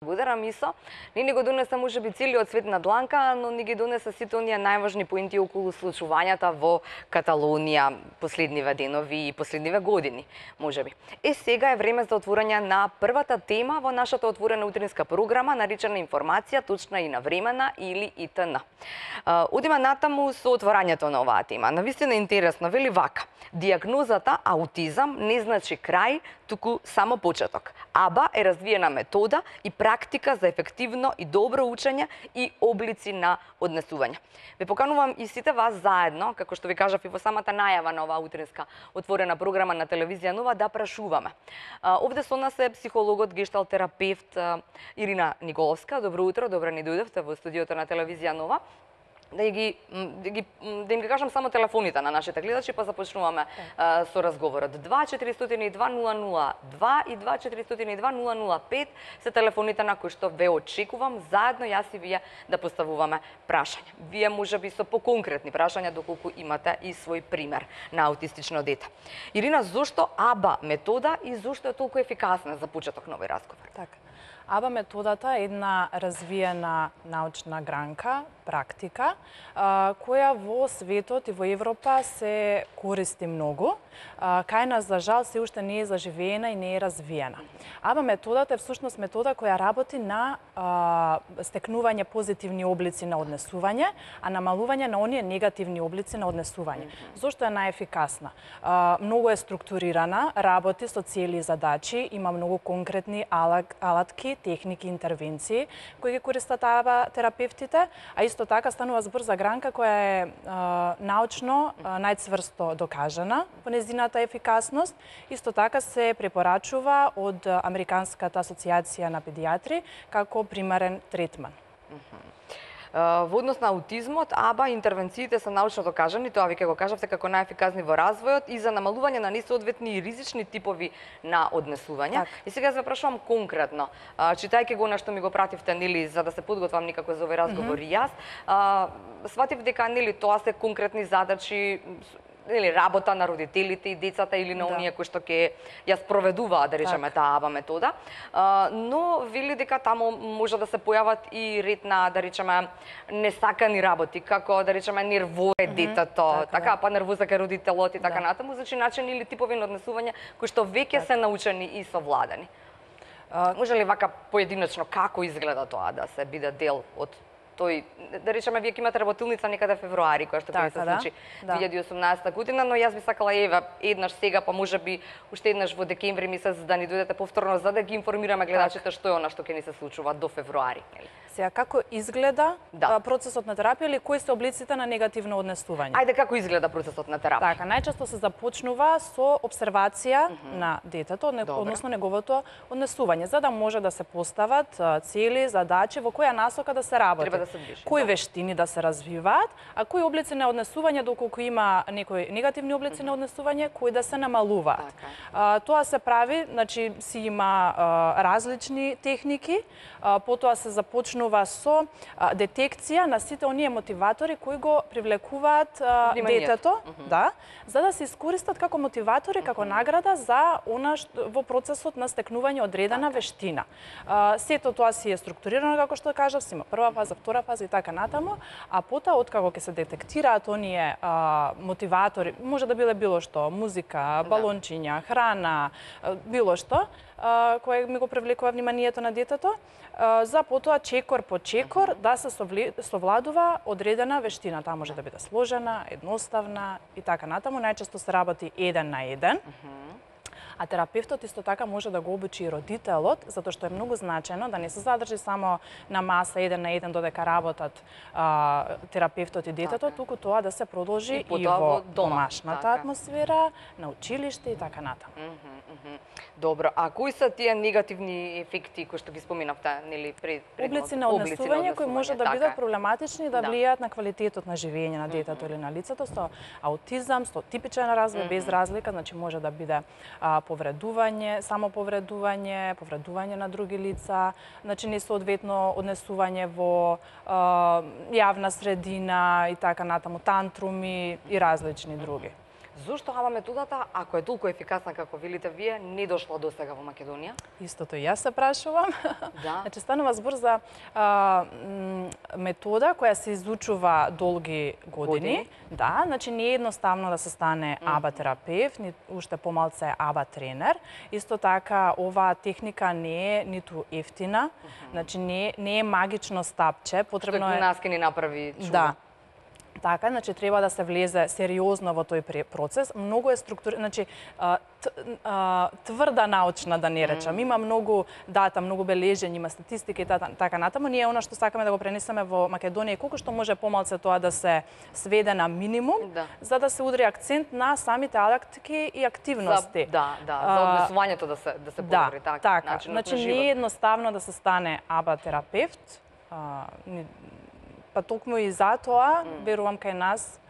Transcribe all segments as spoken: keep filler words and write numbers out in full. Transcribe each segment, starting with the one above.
Благодарам Исо. Не ни го донеса можеби целиот свет на дланка, но ни ги донеса сите оние најважни поинти околу случувањата во Каталонија последниве денови и последниве години, можеби. Е, сега е време за отворање на првата тема во нашата отворена утринска програма, наречена информација, точна и навремена или И Т Н. Одиме натаму со отворањето на оваа тема. Навистина интересно, вели вака: дијагнозата аутизам не значи крај, туку само почеток. АБА е развиена метода и практика за ефективно и добро учење и облици на однесување. Ве поканувам и сите вас заедно, како што ви кажав и во самата најава на оваа утринска отворена програма на телевизија Нова, да прашуваме. Овде со нас е психологот, гешталтерапевт Ирина Николовска. Добро утро, добро ни дојдовте во студиото на телевизија Нова. Да ги, да ги, да им ги кажам само телефоните на нашите гледачи, па започнуваме а, со разговорот. два четири два нула нула два и два четири два нула нула пет се телефоните на кои што ве очекувам заедно јас и вие да поставуваме прашања. Вие можеби со поконкретни прашања доколку имате и свој пример на аутистично дете. Ирина, зошто АБА метода и зошто е толку ефикасна за почеток на овој разговор? Така. АБА методата е една развиена научна гранка, практика, која во светот и во Европа се користи многу. Кај нас, за жал, се уште не е заживеена и не е развиена. АБА методата е всушност метода која работи на стекнување позитивни облици на однесување, а намалување на оние негативни облици на однесување. Зошто е најефикасна? Многу е структурирана, работи со цели и задачи, има многу конкретни алатки, техники, интервенции кои ги користат АБА терапевтите, а исто така станува збор за гранка која е а, научно а, најцврсто докажана во нејзината ефикасност. Исто така се препорачува од Американската асоциација на педијатри како примерен третман. Во однос на аутизмот, АБА интервенциите се научно докажани, тоа ви ќе го кажавте како најефикасни во развојот и за намалување на несоодветни и ризични типови на однесување. Так. И сега се прашувам конкретно, читајќи го на што ми го пративте, нели, за да се подготвам никако за овој разговор и јас, сватив дека нели тоа се конкретни задачи, или работа на родителите и децата или на оние кои што ќе ја спроведуваат, да речеме, таа АБА метода. Но вели дека таму може да се појават и ред на, да речеме, несакани работи, како, да речеме, нервоза е детето, така, па нервоза кај родителот и така натаму, значи начини или типови на однесување кои што веќе се научени и совладани. Може ли вака поединечно како изгледа тоа да се биде дел од тој, да речеме, вие ќе имате работилница некаде февруари, која што ќе се случи две илјади и осумнаесета година, но јас би сакала еве еднаш сега, па можеби уште еднаш во декември месец да ни дојдете повторно за да ги информираме гледачите што е она што ќе ни се случува до февруари. Сега, како изгледа да. процесот на терапија или кои се облиците на негативно однесување? Ајде, како изгледа процесот на терапија? Така, најчесто се започнува со обсервација mm -hmm. на детето, односно неговото однесување, за да може да се постават цели, задачи во која насока да се работи. Треба да се движи. Кои да. вештини да се развиваат, а кои облици на однесување, доколку има некои негативни облици mm -hmm. на однесување, кои да се намалуваат. Okay. А, тоа се прави, значи си има а, различни техники, а, потоа се започнува со а, детекција на сите оние мотиватори кои го привлекуваат а, детето, mm -hmm. да, за да се искористат како мотиватори, како mm -hmm. награда за она што, во процесот на стекнување одредена okay. вештина. А, сето тоа си е структурирано, како што кажав, си има прва фаза, втора фаза и така натаму, а потоа откако ќе се детектираат оние а, мотиватори, може да биле било што, музика, балончиња, храна, било што, а, кое ми го привлекува вниманието на детето, а, за потоа чекор по чекор да се совладува одредена вештина. Таа може да биде сложена, едноставна и така натаму. Најчесто се работи еден на еден. А терапевтот исто така може да го обучи и родителот, затоа што е многу значено да не се задржи само на маса еден на еден додека работат а, терапевтот и детето, така. туку тоа да се продолжи и, и во домашната така. атмосфера, на училиште и така натаму. Mm -hmm, mm -hmm. Добро, а кои се тие негативни ефекти кои што ги споминавте, нели, пред пред облици на однесување кои може да бидат така. проблематични да, да влијаат на квалитетот на живење на детето mm -hmm. или на лицето со аутизам, со типичен развој mm -hmm. без разлика, значи може да биде а, повредување, само повредување, повредување на други лица, значи несоодветно однесување во а, јавна средина и така натаму, тантруми и различни други. Зошто АБА методата, ако е толку ефикасна како велите вие, не дошла до сега во Македонија? Истото и јас се прашувам. Да. Значи, станува збор за а, метода која се изучува долги години. години. Да, значи не е едноставно да се стане АБА терапевт, ни уште помалце АБА тренер. Исто така, оваа техника не е ниту ефтина, значи не, не е магично стапче, потребно е... Што нас ке ни направи чудо. Да. Така, значи треба да се влезе сериозно во тој процес. Многу е структура, значи тврда научна да не речам. Има многу дата, многу бележења, има статистика и така натаму. Ние она што сакаме да го пренесеме во Македонија колку што може помалце тоа да се сведе на минимум, да. За да се удри акцент на самите алактики и активности. За, да, да, за однесувањето да се да се да, подобри така. Така, значи не е едноставно да се стане АБА терапевт. А, Па токму и затоа, верувам кај нас...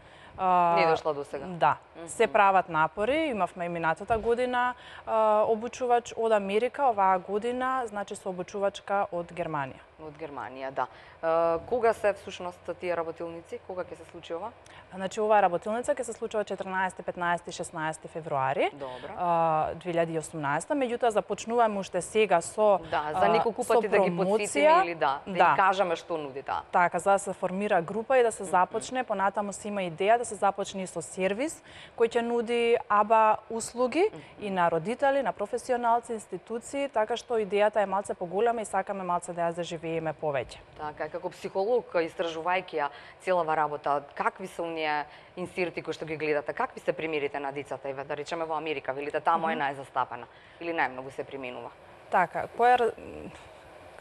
Не дошла до сега. Да. Се прават напори, имавме и минатата година а, обучувач од Америка, оваа година, значи со обучувачка од Германија. Од Германија, да. А, кога се всушност тие работилници? Кога ќе се случи ова? Значи оваа работилница ќе се случува четрнаесети, петнаесети, шеснаесети февруари две илјади и осумнаесета. Меѓутоа започнуваме уште сега со да, за неколку пати да ги потсетиме или да, да, да кажаме што нуди таа. Така, за да се формира група и да се започне, понатаму се има идеја да се започне со сервис кој ќе нуди АБА услуги и на родители, на професионалци, институции, така што идејата е малце поголема и сакаме малце да ја заживееме повеќе. Така, како психолог, истражувајќи ја целава работа, какви се оние инсирти кои што ги гледате, какви се примерите на децата, еве да речеме во Америка, велите таму е најзастапена или најмногу се применува? Така, која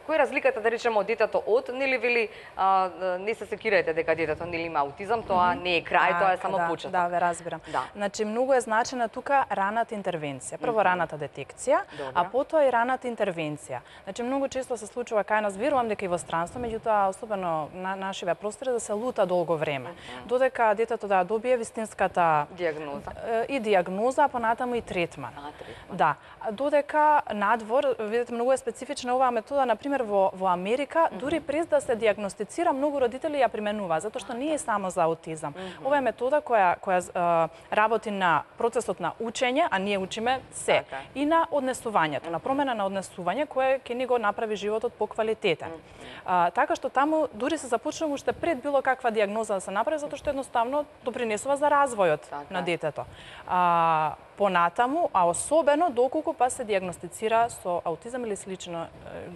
Кој е разликата, да речеме, од детето од, нели вели, а, не се секирајте дека детето нели има аутизам, тоа не е крај, тоа е само да, почеток. Да, ве разбирам. Да. Значи, многу е значена тука раната интервенција. Прво раната детекција, Добре. а потоа и раната интервенција. Значи, многу често се случува кај нас, верувам дека и во странство, меѓутоа, особено на нашиве простори, да се лута долго време. Додека детето да добие вистинската диагноза и диагноза, а понатаму и третман. А, третман. Да. Додека надвор, видите, многу е специфична оваа метода, например, во, во Америка, дури през да се диагностицира, многу родители ја применува, затоа што не е само за аутизам. Mm -hmm. Ова е метода која, која uh, работи на процесот на учење, а ние учиме се, така. И на однесувањето, на промена на однесување, кое ќе ни го направи животот поквалитетен. Mm -hmm. uh, така што таму дури се започнува уште пред било каква диагноза да се направи, затоа што едноставно допринесува за развојот така. На детето. Uh, понатаму, а особено доколку па се диагностицира со аутизам или слично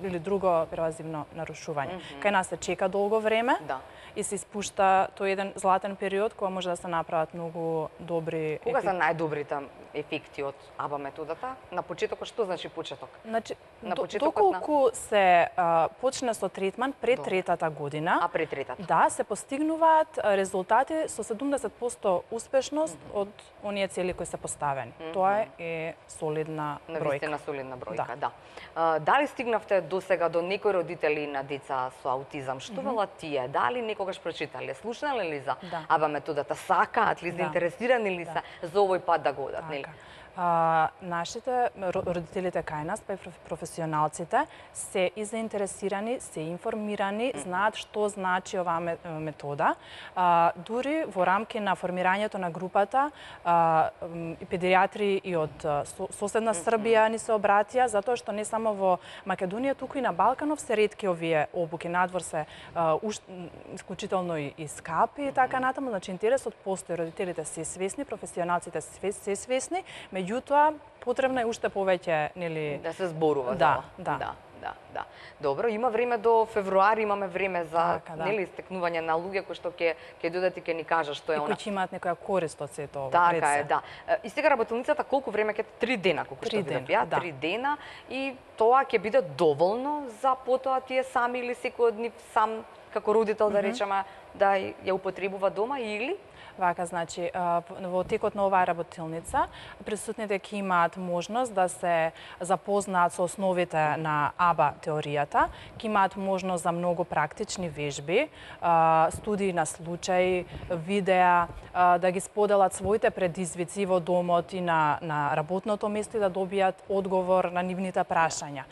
или друго первазивно нарушување. Mm -hmm. Кај нас се чека долго време да. И се испушта тој еден златен период кога може да се направат многу добри. Кога се најдобрите ефекти од АБА методата? На почетокот што значи почеток? Значи, на доколку на... се а, почне со третман пред До. третата година. А пред третата? Да, се постигнуваат резултати со седумдесет проценти успешност mm -hmm. од оние цели кои се поставени. Mm -hmm. Тоа е солидна бројка. Навистина солидна бројка, да. да. А, дали стигнавте до сега до некои родители на деца со аутизам? Што mm -hmm. велат тие? Дали некогаш прочитале, слушнале ли за да. АБА методата? Сакаат ли, заинтересирани ли да. се за овој пат да го одат, нели? А, нашите родителите кај нас, па и професионалците, се и заинтересирани, се информирани, знаат што значи оваа метода. А, дури во рамки на формирањето на групата, а, и педијатри и од соседна Србија ни се обратија, затоа што не само во Македонија, туку и на Балканов се ретки овие обуки. Надвор се а, уш, исклучително и, и скапи и така натаму. Значи, интересот постои, родителите се свесни, професионалците се свесни, меѓутоа потребно е уште повеќе, нели, да се зборува да, за да. да, да, да. Добро, има време до февруари, имаме време за така, да. нели стекнување на луѓе кои што ќе ќе додат и ќе ни кажат што е и она. И кои ќе имаат некоја корист од сето ова. Така е, да. И сега работилницата колку време ќе три дена, колку што видов ја, да. три дена и тоа ќе биде доволно за потоа тие сами или секој од нив сам како родител mm -hmm. да речеме да ја употребува дома или Вака, значи, во текот на оваа работилница, присутните ќе имаат можност да се запознаат со основите на АБА теоријата, ќе имаат можност за многу практични вежби, студии на случај, видеа, да ги споделат своите предизвици во домот и на, на работното место и да добијат одговор на нивните прашања.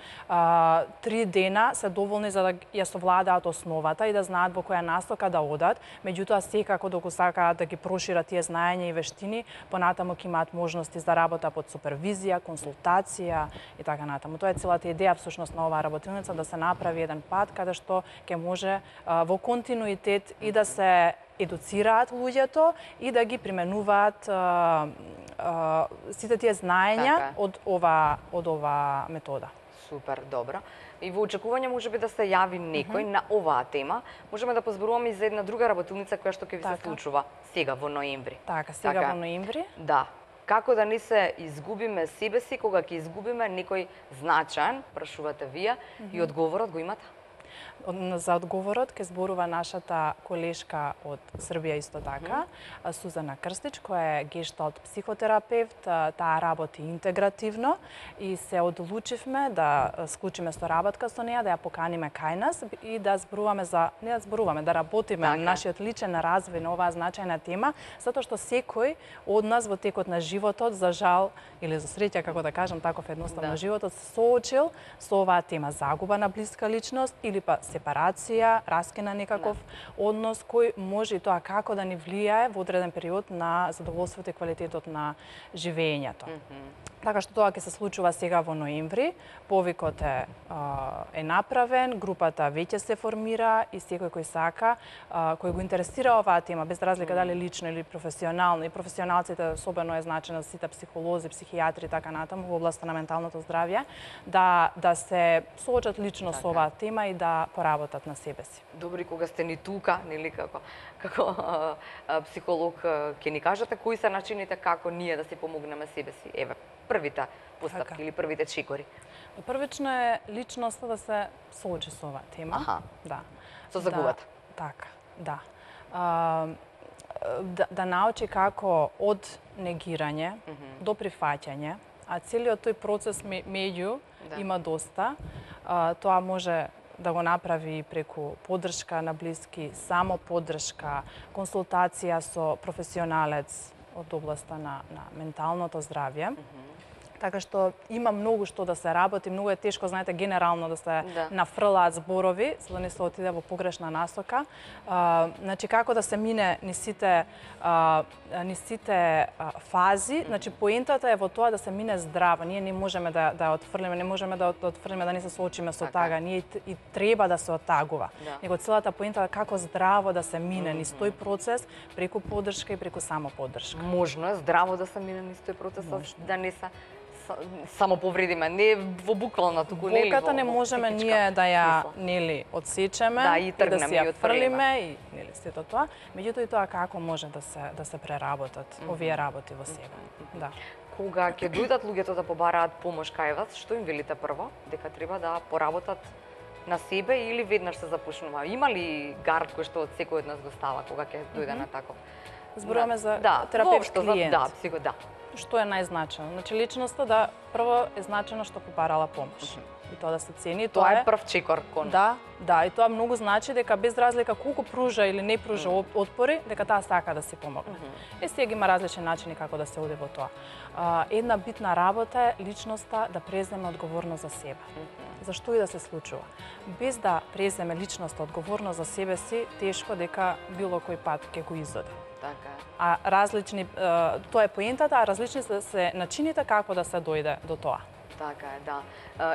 Три дена се доволни за да ја совладаат основата и да знаат во која насока да одат, меѓутоа секако доколку сакаат да ги ги прошират тие знаења и вештини, понатаму ќе имаат можности за работа под супервизија, консултација и така натаму. Тоа е целата идеја всушност на оваа работилница, да се направи еден пат каде што ќе може а, во континуитет и да се едуцираат луѓето и да ги применуваат а, а, сите тие знаења Така. од ова од ова метода. Супер, добро. И во очекување може би да се јави некој mm -hmm. на оваа тема, можеме да позборуваме и за една друга работилница која што ќе ви се Така. случува сега во ноември. Така, сега Така. во ноември. Да. Како да не се изгубиме себе си кога ќе изгубиме некој значаен, прашувате вие, mm -hmm. и одговорот го имате? За одговорот ќе зборува нашата колешка од Србија иско така, Mm-hmm. Сузана Крстич, која е гешталт психотерапевт, таа работи интегративно и се одлучивме да склучиме соработка со неа, да ја поканиме кај нас и да зборуваме за не да зборуваме, да работиме Така. на нашиот личен развој на оваа значајна тема, затоа што секој од нас во текот на животот, за жал или за среќа, како да кажам, таков едноставно Да. животот се соочил со оваа тема, загуба на блиска личност или па сепарација, раскина некаков Да. однос кој може и тоа како да ни влијае во одреден период на задоволството и квалитетот на живеењето. Mm -hmm. Така што тоа ќе се случува сега во ноември, повикот е, а, е направен, групата веќе се формира и секој кој сака, а, кој го интересира оваа тема, без разлика дали лично или професионално, и професионалците особено е значено за сите психолози, психијатри и така натаму во областа на менталното здравје, да, да се соочат лично Така. со оваа тема и да поработат на себе си. Добри, кога сте ни тука, нели како како а, а, психолог, а, ќе ни кажете кои се начините како ние да се помогнеме себе си. Еве, првите постапки Така. или првите чекори. Првично е личноста да се соочи со оваа тема. Аха. Да. Со загубата. Да, така, да. А, да. Да научи како од негирање mm -hmm. до прифаќање, а целиот тој процес меѓу Да. има доста. А, тоа може да го направи преку поддршка на блиски, само поддршка, консултација со професионалец од областа на, на менталното здравје. Mm -hmm. Така што има многу што да се работи, многу е тешко, знаете, генерално да се Да. нафрлаат зборови, за да не се отиде во погрешна насока. А, значи, како да се мине ни сите, а, ни сите а, фази, значи, поентата е во тоа да се мине здраво. Ние не можеме да, да отфрлиме, не можеме да, да отфрлиме, да не се соочиме со Така. тага. Ние и, и треба да се оттагува. Да. Него целата поента е како здраво да се мине низ тој процес, преку поддршка и преку само поддршка. Можно е здраво да се мине низ тој процес, да не се само повредиме, не во буквално туку, нели? Болката не можеме ние да ја нели одсечеме, Да, и и да тргнеме, си и ја отфрлиме. фрлиме и нели сето тоа. Меѓутоа и тоа како може да се да се преработат mm -hmm. овие работи во себе. Mm -hmm. Да. Кога ќе дојдат луѓето да побараат помош кај вас, што им велите прво? Дека треба да поработат на себе или веднаш се започнува? Има ли гард кој што од секој од нас го става кога ќе дојде mm -hmm. на таков? Зборуваме за да, терапевт воопшто, клиент. Да, психо, да. Што е најзначено? Значи личноста да прво е значено што побарала помош. Mm -hmm. И тоа да се цени, Тоа е прв чекор кон. Да, да, и тоа многу значи дека без разлика колку пружа или не пружа mm -hmm. отпори, дека таа сака да се помогне. Mm -hmm. И сега има различни начини како да се оди во тоа. А, една битна работа е личноста да преземе одговорност за себе. Mm -hmm. За што и да се случува. Без да преземе личноста одговорност за себе си, тешко дека било кој пат ќе го изоде. Така е. А различни, тоа е поентата, а различни се, се начините како да се дојде до тоа. Така е, да.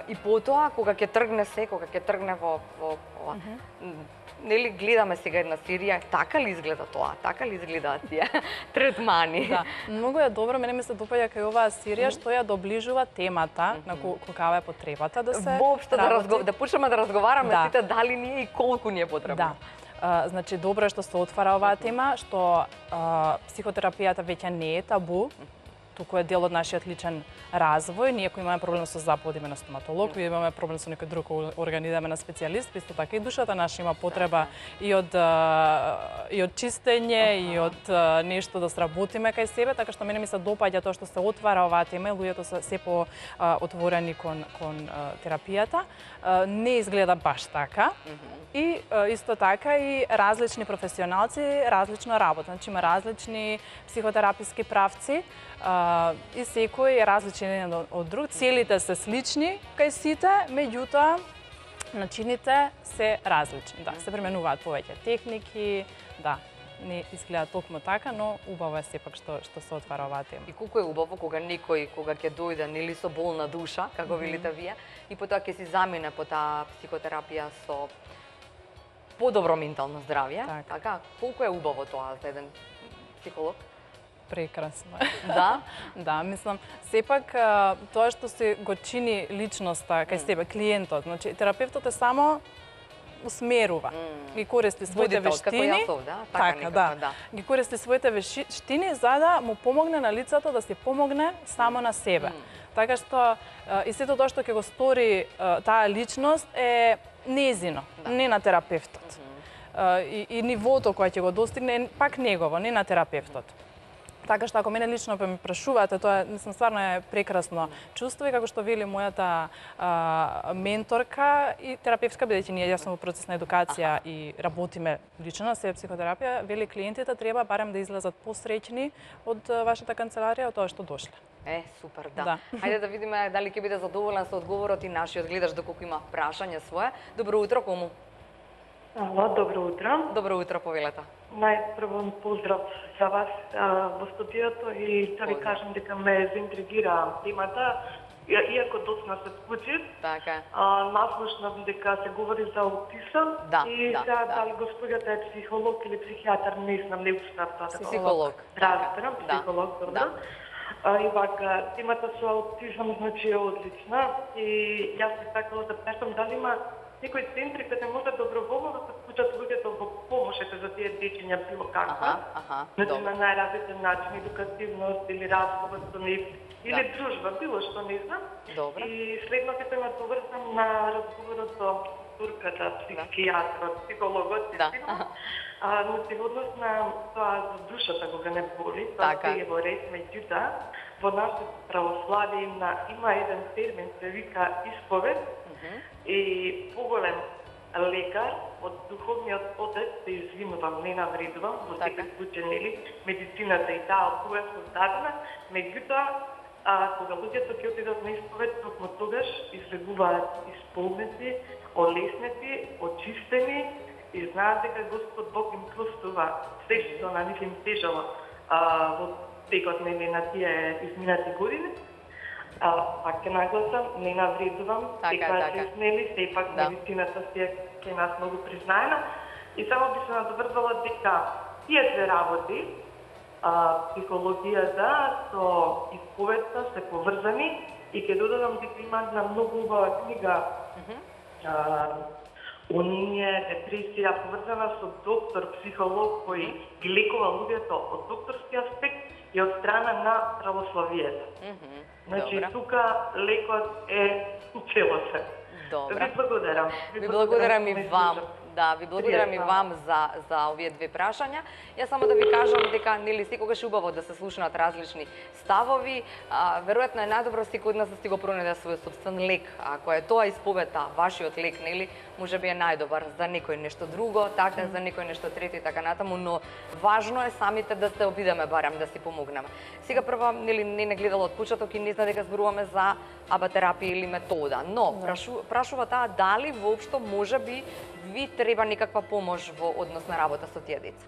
И потоа, кога ќе тргне се, кога ќе тргне во, во ова, mm -hmm. нели гледаме сега една серија, така ли изгледа тоа, така ли изгледаат тие третмани? Да, многу е добро, мене ми се допаѓа кај оваа серија, mm -hmm. што ја доближува темата mm -hmm. на какава е потребата да се Воопшто да, разго... да почнеме да разговараме да. сите дали ни е и колку ни е потребно. Да. Uh, значи, добро е што се отвара оваа тема, што uh, психотерапијата веќе не е табу, туку е дел од нашиот личен развој. Ние кои имаме проблем со зап, одиме на стоматолог, кои имаме проблем со некој друг орган, идеме на специјалист, исто така и душата наша има потреба и од и од чистење и од нешто да сработиме кај себе, така што мене ми се допаѓа тоа што се отвара оваа тема, луѓето се се по отворени кон кон терапијата. Не изгледа баш така. И исто така и различни професионалци различно работат. Значи има различни психотераписки правци и секој е различен еден од друг. Целите се слични кај сите, меѓутоа начините се различни. Да, се применуваат повеќе техники, да. не изгледа токму така, но убаво е сепак што што се отвара оваа тема. И колку е убаво кога некој кога ќе дојде нели со болна душа, како велите вие, и потоа ќе си замине по таа психотерапија со подобро ментално здравје, Так. така, колку е убаво тоа за еден психолог? Прекрасно. Да? Да, мислам, сепак а, тоа што се го чини личноста кај себе, клиентот, значи терапевтот е само усмерува, ги користи своите Водител, како вештини, јас овде, а? Така некако, да, да. ги користи своите вештини за да му помогне на лицето да се помогне само на себе. Така што а, и сето тоа што ќе го стори а, таа личност е незино, не на терапевтот. А, и, и нивото кое ќе го достигне е пак негово, не на терапевтот. Така што ако мене лично ме прашувате, тоа мислам стварно е прекрасно чувство и како што вели мојата а, менторка и терапевтка, бидејќи ние јас сум во процес на едукација Аха. И работиме лично на себе психотерапија, вели клиентите треба барем да излезат посреќни од а, вашата канцеларија од тоа што дошле. Е, супер, да. Да. Хајде да видиме дали ќе биде задоволен со одговорот и нашиот гледач доколку има прашање свое. Добро утро, кому? Ало, добро утро. Добро утро, повелете. Најпрво поздрав за вас а, во студиото и да ви Поздрав. кажам дека ме заинтригира темата, и- иако доцна се скучи. Така. А, наслушнав дека се говори за аутизам Да, и да, сега да. дали господјата е психолог или психијатар, не знам, не успеав тоа да го Психолог. разберам, Да. психолог, добро. Да. А, и вака, темата со аутизам значи е одлична и јас би сакала да питам дали има некои центри каде може доброволно да се вклучат луѓето во помошите за тие дечиња било каква. Аха, аха, Значи добро. на најразличен начин, едукативност или разговор со нив, или Да. дружба, било што не знам. Добро. И следно ќе ме доврзам на разговорот со турката, психијатрот, психологот, Да. истина. А, но се однос на тоа за душата кога не боли, тоа Така. се е во ред, меѓутоа, во нашето православие има, има еден термин, се вика исповед, и поголем лекар од духовниот отец се извинувам, не навредувам, во Така. секој случај, нели, медицината и таа од кога е создадена, меѓутоа, а, кога луѓето ќе отидат на исповед, токму тогаш излегуваат исполнети, олеснети, очистени и знаат дека Господ Бог им простува се што на нив им тежало а, во текот нели на тие изминати години. А, пак ќе нагласам, не навредувам, Така, дека така. се снели, сепак Да. медицината си е кај нас многу признаена. И само би се надоврзала дека тие две работи, а, психологијата со исповедта се поврзани и ќе додадам дека има една многу убава книга а, Униние, депресија, поврзана со доктор, психолог кој ги лекува луѓето од докторски аспект и од страна на православието. Мгм. Значи, Добро. тука лекот е целосен. Добро. Ви благодарам. Ви благодарам и што ме вам. слушавте. Да, ви благодарам и Пријатно. вам за за овие две прашања. Јас само да ви кажам дека нели секогаш е убаво да се слушнат различни ставови. А, веројатно е најдобро секој од нас да си го пронајде свој собствен лек. Ако е тоа исповета, вашиот лек, нели, можеби е најдобар за некој нешто друго, така за некој нешто трето и така натаму, но важно е самите да се обидеме барем да си помогнеме. Сега прва нели не не гледала од почеток и не знае дека зборуваме за абатерапија или метода, но прашу, прашува таа дали воопшто можеби ви треба некаква помош во однос на работа со тие деца.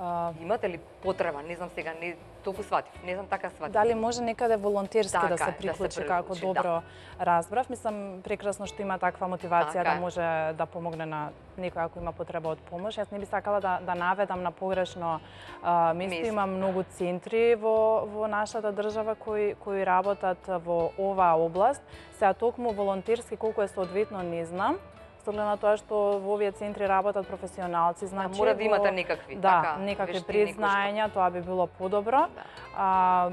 А, Имате ли потреба? Не знам сега, не толку сватив, не знам така сватив. Дали може некаде волонтерски Така да е, се да се приклучи, приклучи, како да. добро разбрав. Мислам, прекрасно што има таква мотивација Така да е. може да помогне на некој ако има потреба од помош. Јас не би сакала да, да наведам на погрешно а, место. Место. Има многу центри во, во нашата држава кои, кои работат во оваа област. Сега токму волонтерски колку е соодветно не знам. Со оглед на тоа што во овие центри работат професионалци, значи мора да во- имате некакви, да, така, некакви вештини кои што- признаења, тоа би било подобро. Да. А,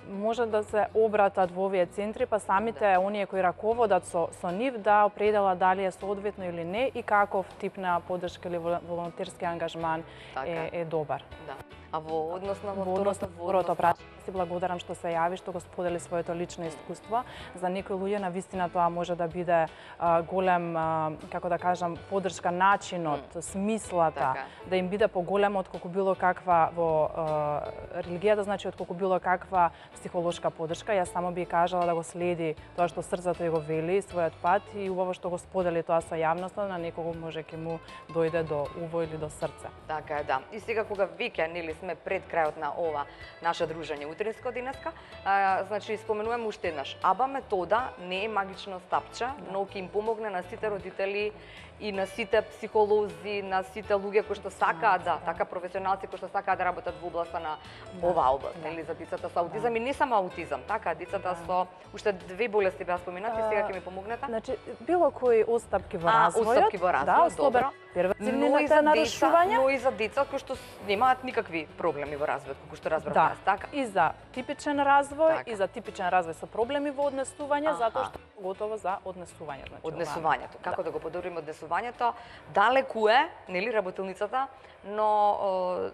може да се обратат во овие центри, па самите Да. оние кои раководат со, со нив да определат дали е соодветно или не и каков тип на поддршка или вол- волонтерски ангажман Така. е, е добар. Да. А во однос на Во однос на второто прашање, си благодарам што се јави, што го сподели своето лично искуство. За некои луѓе на вистина тоа може да биде а, голем, а, како да кажам, поддршка, начинот, смислата, Така. да им биде поголема отколку било каква во а, религијата, значи отколку било каква психолошка подршка. Јас само би кажала да го следи тоа што срцето ја го вели, својот пат и убаво што го сподели тоа со јавноста, на некого може ќе му дојде до уво или до срце. Така е, да. И сега кога веќе нели сме пред крајот на ова наше дружење утринско денеска, а, значи споменуваме уште еднаш. АБА метода не е магично стапче, но ќе им помогне на сите родители и на сите психолози, на сите луѓе кои што сакаат да, така професионалци кои што сакаат да работат во областа на оваа област, нели за децата со аутизам и не само аутизам, така децата со уште две болести беа споменати, сега ќе ми помогнете. Значи било кои остапки во А, развојот, остапки во развојот, добро. Но и за нарушувања, но и за деца кои што немаат никакви проблеми во развојот, како што разбрав да, јас, така. и за типичен развој, Така. и за типичен развој со проблеми во однесување, Аха. затоа што готово за однесување, значи. Однесувањето, ова. како да го подобриме однесувањето, далеку е, нели, работилницата, но о,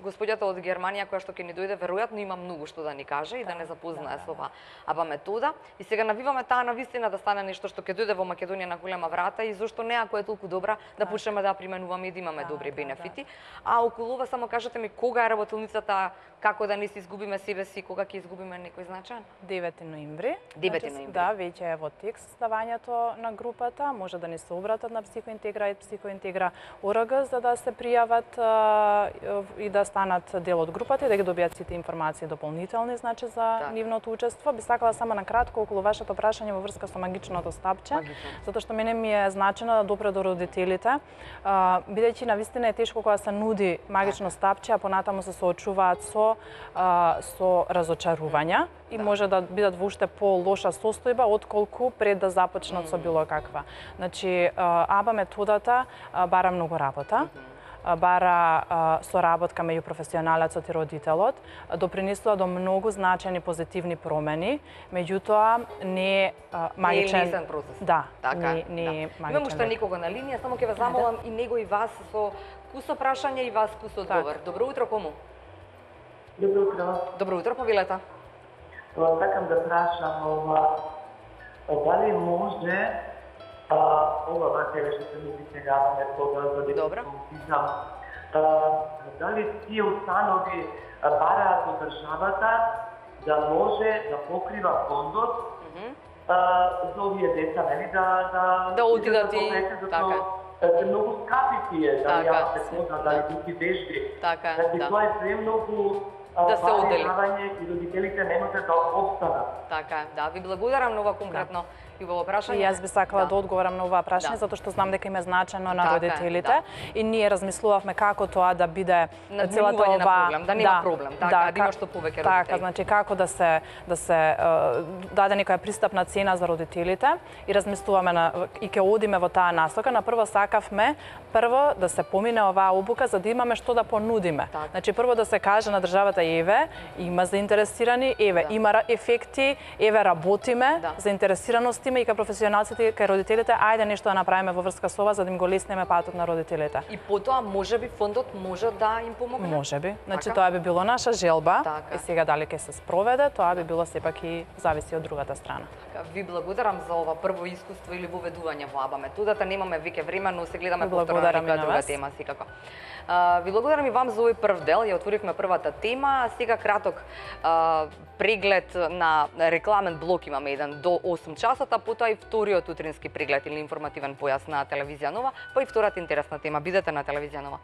господјата од Германија која што ќе ни дојде веројатно има многу што да ни каже и да не запознае со оваа АБА метода. И сега навиваме таа навистина да стане нешто што ќе дојде во Македонија на голема врата и зошто не, ако е толку добра, да почнеме да ја применуваме и да имаме добри бенефити. А околу ова само кажете ми кога е работилницата, како да не си изгубиме себе си, кога ќе изгубиме некој значаен? девети ноември. девети Значи, ноември. Да, веќе е во текст ставањето на групата, може да ни се обратат на Психоинтегра и Психоинтегра ОРГ за да се пријават а, и да станат дел од групата и да ги добијат сите информации дополнителни, значи за Так. нивното учество. Би сакала само на кратко околу вашето прашање во врска со магичното стапче, Магично. затоа што мене ми е значено да допре до родителите, а, бидејќи навистина е тешко кога се нуди магично стапче, а понатаму се соочуваат со а, со разочарувања и може да бидат во уште по-лоша состојба отколку пред да започнат со било каква. Значи, АБА методата а, бара многу работа. а, бара а, соработка меѓу професионалецот и родителот, а, допринесува до многу значајни позитивни промени, меѓутоа не е а, магичен... Не е лесен процес. Да, така, не, не е да. магичен. Имам уште некого на линија, само ќе ве замолам и него и вас со кусо прашање и вас кусо одговор. Добро утро, кому? Добро утро. Добро утро, повелете. Ова сакам да прашам ова дали може а, ова материја што се нуди сега метода за Добро. аутизам, дали тие установи а, бараат од државата да може да покрива фондот а, за овие деца, нели да да Да отидат и- и така. се многу скапи тие, дали Така, ја метода, дали да. дуки вежби. Така, Значи да. тоа е премногу Да се одели. и родителите не можат да обстанат. Така е, да. Ви благодарам на ова конкретно и во прашање. И јас би сакала да, Да. одговорам на оваа прашање, Да. затоа што знам дека им е значено на Така е, родителите да. и ние размислувавме како тоа да биде целата Надминување на оваа проблем, да нема проблем, така, да има што повеќе Така, родители. значи како да се да се е, даде некоја пристапна цена за родителите и размислуваме на и ќе одиме во таа насока. На прво сакавме прво да се помине оваа обука за да имаме што да понудиме. Така. Значи прво да се каже на државата еве, има заинтересирани, еве, Да. има ра- ефекти, еве работиме, Да. заинтересираност има и кај професионалците и кај родителите, ајде нешто да направиме во врска со ова за да им го леснеме патот на родителите. И потоа можеби фондот може да им помогне. Може би. Значи Така? тоа би било наша желба. Така. И сега дали ќе се спроведе, тоа би било сепак и зависи од другата страна. Така, ви благодарам за ова прво искуство или воведување во АБА методата. Немаме веќе време, но се гледаме Ви повторно на благодарам и некоја на друга вас. тема секако. А, ви благодарам и вам за овој прв дел. Ја отворивме првата тема. Сега краток а, преглед на рекламен блок имаме еден до осум часот, а потоа и вториот утрински преглед или информативен појас на телевизија Нова, па и втората интересна тема. Бидете на телевизија Нова.